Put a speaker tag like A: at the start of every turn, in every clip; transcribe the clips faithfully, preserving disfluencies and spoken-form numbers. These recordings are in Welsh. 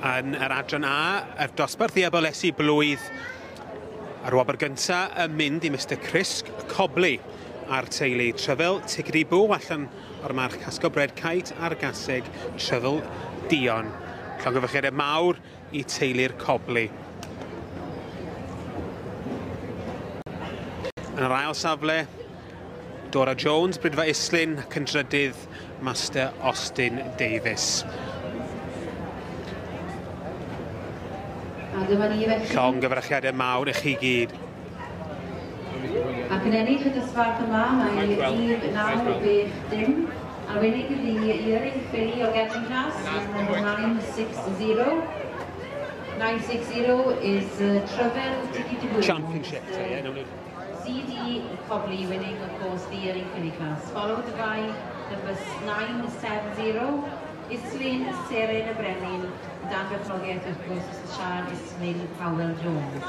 A: Yn yr adran A, yr dosbarth i abolesi blwydd, a'r wobr gyntaf yn mynd i Mister Chris Cobley a'r teulu Tryfel Tigri Bw allan o'r march Casgo Bred Kite a'r gaseg Tryfel Dion. Llongyfarchiadau mawr i teulu'r Cobley. Yn yr ail safle, Dora Jones, Brydfa Islyn, ac yn drydydd Master Austin Davies.
B: A dyma ni felly.
A: Llongyfarchiadau mawr i chi gyd.
B: Ac yn ennill y dosbarth yma, mae rhif naw chwech dim. Arweinig y Yearling Filly o Gefn Class, number nine six zero. nine six zero is uh, Tryfel Tiggy
A: Championship, so yeah, no, no.
B: C D Cobley winning, of course, the Yearling Filly class. Followed by number nine seven zero, Islyn Seren y Brenin, dan berchnogaeth, wrth gwrs, Sian Islyn Powell Jones.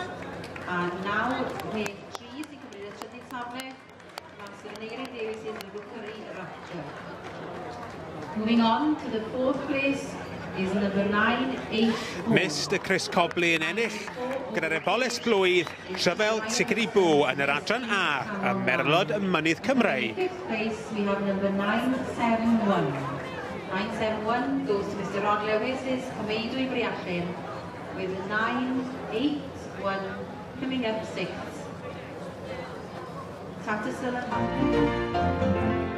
B: A naw chwech tri sy'n cymryd y trydydd safle, Master Aneurin Davies in Rookery Raptor. Moving on to the fourth place is number nine eight four.
A: Mister Chris Cobley yn ennill gyda'r eboles blwydd Tryfel Tigri Bw yn yr adran A ym Merlod y Mynydd Cymreig.
B: In fifth place we have number nine seven one. nine seven one goes to Mister Rod Lewis's Comeidwy Briallen with nine eight one coming up six. Tattersall and